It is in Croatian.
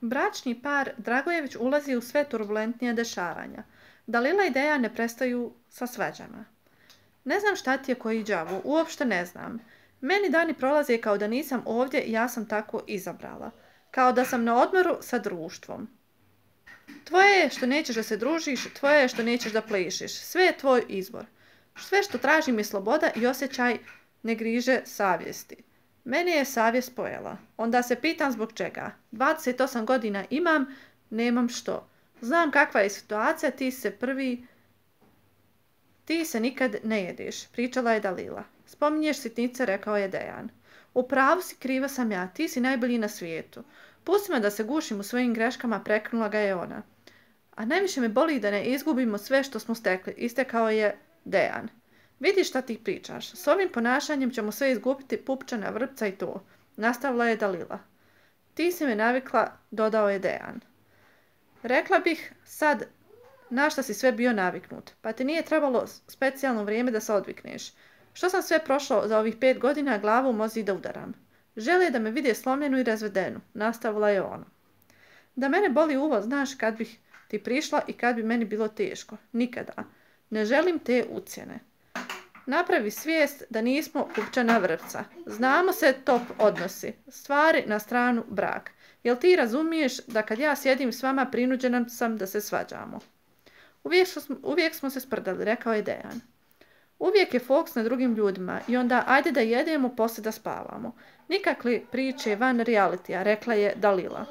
Bračni par Dragojević ulazi u sve turbulentnija dešavanja. Dalila i Dejan ne prestaju sa svađama. Ne znam šta ti je koji đavo, uopšte ne znam. Meni dani prolaze kao da nisam ovdje i ja sam tako izabrala. Kao da sam na odmoru sa društvom. Tvoje je što nećeš da se družiš, tvoje je što nećeš da plešiš. Sve je tvoj izbor. Sve što tražim je sloboda i osjećaj ne griže savjesti. Meni je savjest pojela. Onda se pitam zbog čega. 28 godina imam, nemam što. Znam kakva je situacija, ti se nikad ne jediš, pričala je Dalila. Spominješ sitnice, rekao je Dejan. U pravu si, kriva sam ja, ti si najbolji na svijetu. Pusti me da se gušim u svojim greškama, prekinula ga je ona. A najviše me boli da ne izgubimo sve što smo stekli, istekao je Dejan. Vidi šta ti pričaš, s ovim ponašanjem ćemo sve izgubiti, pupčana, vrpca i to, nastavila je Dalila. Ti si me navikla, dodao je Dejan. Rekla bih sad na šta si sve bio naviknut, pa ti nije trebalo specijalno vrijeme da se odvikneš. Što sam sve prošlo za ovih 5 godina, glavu u mozi da udaram. Žele da me vide slomljenu i razvedenu, nastavila je ona. Da mene boli uvo, znaš kad bih ti prišla i kad bi meni bilo teško. Nikada. Ne želim te ucjene. Napravi svijest da nismo pupčana vrpca. Znamo se top odnosi. Stvari na stranu brak. Jel ti razumiješ da kad ja sjedim s vama prinuđena sam da se svađamo? Uvijek smo se sprdali, rekao je Dejan. Uvijek je fokus na drugim ljudima i onda ajde da jedemo, poslije da spavamo. Nikakve priče van realitija, rekla je Dalila.